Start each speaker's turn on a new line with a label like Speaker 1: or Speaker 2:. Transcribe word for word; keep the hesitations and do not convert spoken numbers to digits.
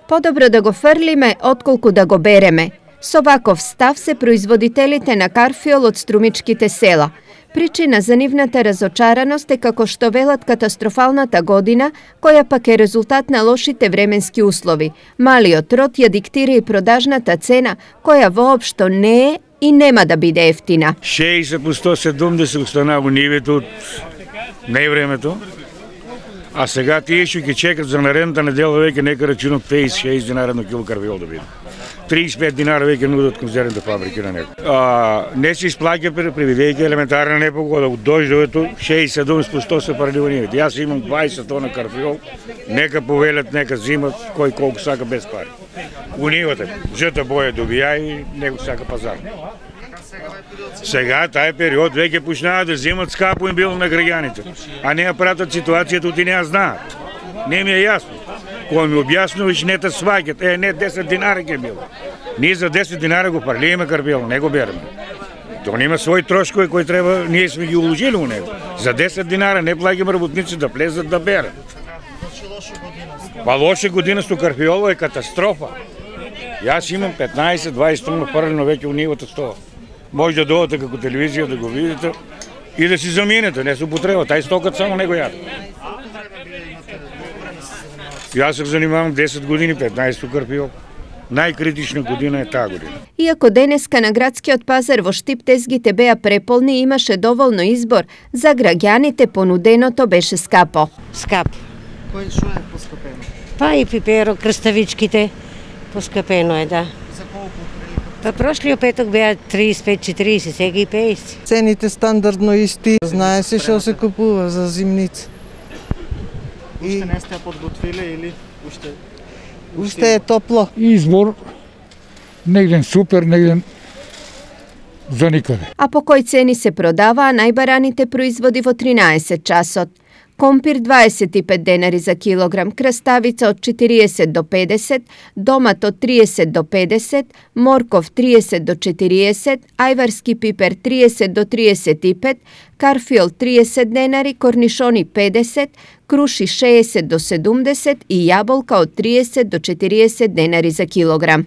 Speaker 1: Подобро да го фрлиме, отколку да го береме. Со ваков став се производителите на карфиол од струмичките села. Причина за нивната разочараност е како што велат катастрофалната година, која пак е резултат на лошите временски услови. Малиот род ја диктира и продажната цена, која воопшто не е и нема да биде ефтина.
Speaker 2: шеесет по сто седумдесет устанава нивето од невремето, а сега тие што ќе чекат за наредната недела веќе нека рачунат пеесет шеесет динара на кило карфиол да биде. триесет и пет динара веќе нудат конзервните фабрики на него. А, не се исплаќа предвидејќи елементарна непогода од дождовето, шеесет седумдесет по сто се паралива нивите. Јас имам дваесет тона карфиол, нека повелят, нека зимат кој колку сака без пари. У нивата, жута боја добија и него сака пазар. Сега тај период веќе почнаа да земат скапо им било на граѓаните, а не ја пратат ситуацијата и не ја знаат. Не ми е јасно. Кој ми објаснуваш, не те сваќат. Е, не десет динара ќе било. Ние за десет динара го парливаме карфиол, не го береме. Тоа има своји трошкови кои треба, ние сме ги уложили у него. За десет динара не плаќаме работници да влезат да берат. Па лоша година со карфиоло е катастрофа. Јас имам петнаесет дваесет тона парено веќе у нивата стоа. Може да доодете како телевизија да го видите и да си заминете, не се употреба. Тај стокат само него јаде. Јас се занимавам десет години, петнаесет со карфиол. Најкритична година е таа година.
Speaker 1: Иако денеска на градскиот пазар во Штип тезгите беа преполни и имаше доволно избор, за граѓаните понуденото беше скапо.
Speaker 3: Скап.
Speaker 4: Кој шо е поскапено?
Speaker 3: Па и пиперо, крставичките, поскапено е, да.
Speaker 4: За колку?
Speaker 3: Па прошлиот петок беа триесет и пет четириесет, сега и пеесет.
Speaker 4: Цените стандардно исти. Знае се што се купува за зимница.
Speaker 5: Уште не сте подготвиле или уште?
Speaker 4: Уште е топло.
Speaker 6: Избор негден супер, негден за никаде.
Speaker 1: А по кој цени се продаваа најбараните производи во тринаесет часот? Компир дваесет и пет денари за килограм, краставица од четириесет до педесет, домат од триесет до педесет, морков триесет до четириесет, ајварски пипер триесет до триесет и пет, карфиол триесет денари, корнишони педесет, круши шеесет до седумдесет и јаболка од триесет до четириесет денари за килограм.